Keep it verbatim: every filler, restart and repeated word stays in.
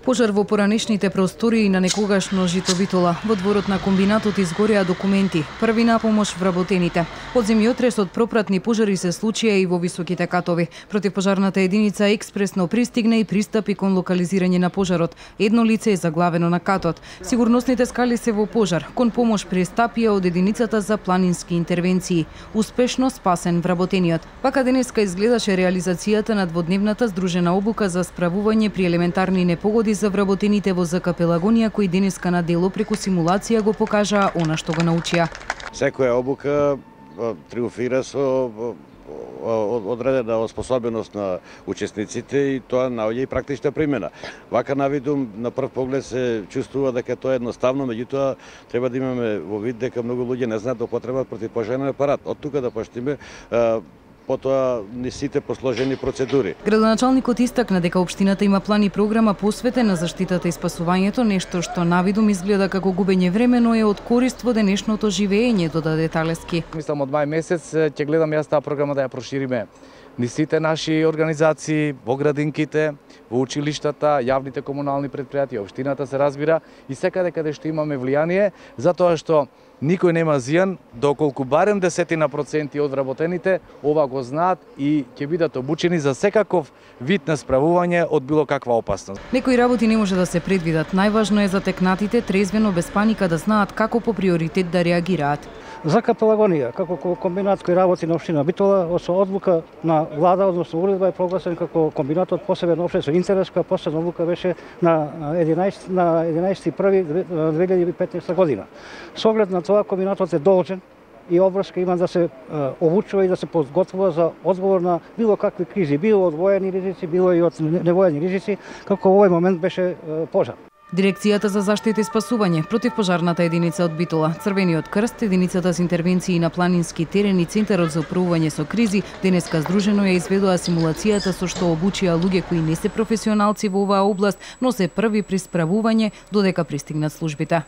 Пожар во поранешните простории на некогашно жито Битола. Во дворот на комбинатот изгореа документи. Први на помош вработените. Од земјотресот пропратни пожари се случија и во високите катови. Противпожарната единица експресно пристигна и пристапи кон локализирање на пожарот. Едно лице е заглавено на катот. Сигурносните скали се во пожар. Кон помош пристапија од единицата за планински интервенции. Успешно спасен вработениот. Вака денеска изгледаше реализацијата на дводневната здружена обука за справување при елементарни непогоди за вработените во ЗК Пелагонија, кои денеска на дело преку симулација го покажаа она што го научија. Секоја обука триумфира со одредена способност на учесниците и тоа наоѓа и практична примена. Вака навидум на прв поглед се чувствува дека тоа е едноставно, меѓутоа треба да имаме во вид дека многу луѓе не знаат да употребат противпожарен апарат. Од тука да поштиме потоа не сите посложени процедури. Градоначалникот истакна дека општината има план и програма посветена на заштитата и спасувањето, нешто што навидум изгледа како губење време, но е од корист во денешното живење, додаде Талески. Мислам од мај месец ќе гледам јас таа програма да ја прошириме ни сите наши организации, во градинките, во училиштата, јавните комунални предпријатија, општината се разбира и секаде каде што имаме влијание, затоа што никој нема зијан, доколку барем десетина проценти од вработените ова го знаат и ќе бидат обучени за секаков вид на справување од било каква опасност. Некои работи не може да се предвидат. Најважно е за текнатите трезвено без паника да знаат како по приоритет да реагираат. ЗК Пелагонија, како комбинат кој работи на општина Битола, со одлука на влада, односно уредба е прогласен како комбинатот посебен општествен интерес, која последна одлука беше на единаесети први две илјади и петнаесета година. Со оглед на тоа комбинатот е должен и обврска има да се обучува и да се подготвува за одговор на било какви кризи, било од воени ризици, било и од невоени ризици, како во овој момент беше пожар. Дирекцијата за заштита и спасување, противпожарната единица од Битола, Црвениот крст, единицата за интервенции на планински терени, Центарот за управување со кризи, денеска здружено ја изведоа симулацијата со што обучија луѓе кои не се професионалци во оваа област, но се први при справување додека пристигнат службите.